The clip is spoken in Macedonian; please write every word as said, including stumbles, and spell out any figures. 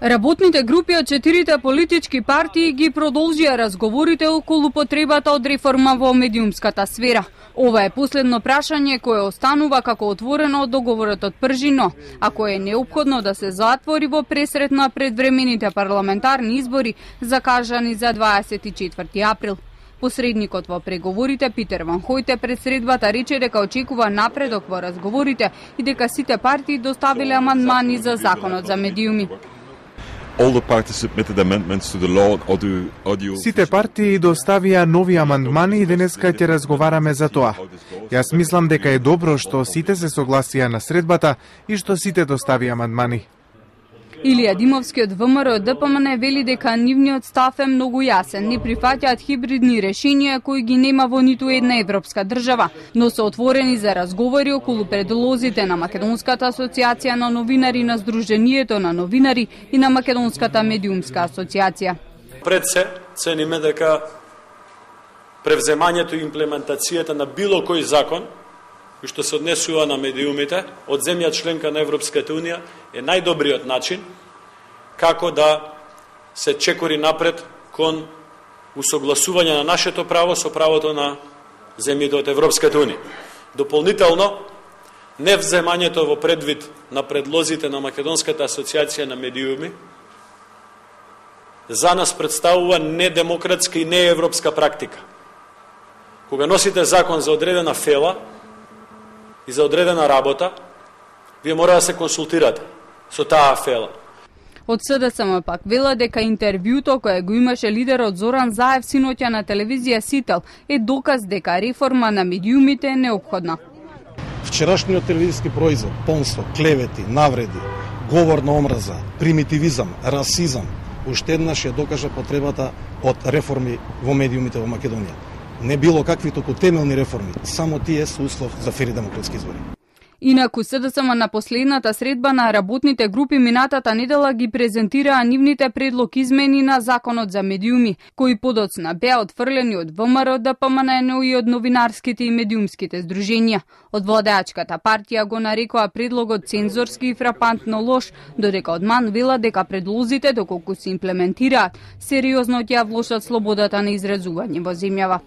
Работните групи од четирите политички партии ги продолжија разговорите околу потребата од реформа во медиумската сфера. Ова е последно прашање кое останува како отворено од договорот од Пржино, а кое е неопходно да се затвори во пресрет на предвремените парламентарни избори закажани за дваесет и четврти април. Посредникот во преговорите Питер Ван Хојте пред средбата рече дека очекува напредок во разговорите и дека сите партии доставиле амандмани за законот за медиуми. Сите партии доставија нови амандмани и денеска ќе разговараме за тоа. Јас мислам дека е добро што сите се согласија на средбата и што сите доставија амандмани. Илија Димовски од ВМРО ДПМН вели дека нивниот став е многу јасен, не прифаќаат хибридни решенија кои ги нема во ниту една европска држава, но се отворени за разговори околу предлозите на Македонската асоциација на новинари, на Сдруженијето на новинари и на Македонската медиумска асоциација. Пред се цениме дека превземањето и имплементацијата на било кој закон кој што се однесува на медиумите од земја членка на Европската унија е најдобриот начин како да се чекори напред кон усогласување на нашето право со правото на земјите од Европската унија. Дополнително, невземањето во предвид на предлозите на Македонската асоциација на медиуми за нас представува недемократска и неевропска практика. Кога носите закон за одредена фела и за одредена работа, вие мора да се консултирате со таа фела. Од СДСМ пак вела дека интервјуто кое го имаше лидерот Зоран Заев синоќа на телевизија Сител е доказ дека реформа на медиумите е неопходна. Вчерашниот телевизиски производ, понство, клевети, навреди, говор на омраза, примитивизам, расизам, уште еднаш ја докажа потребата од реформи во медиумите во Македонија. Не било какви току темелни реформи, само тие се услов за фери демократски избори. Инаку СДСМ на последната средба на работните групи минатата недела ги презентираа нивните предлог измени на законот за медиуми, кои подоцна беа отфрлени од ВМРО, ДПМН, но и од новинарските и медиумските здруженија. Од владеачката партија го нарекоа предлогот цензорски и фрапантно лош, додека од МАН вела дека предлозите доколку се имплементираат, сериозно ќе ја влошат слободата на изразување во земјава.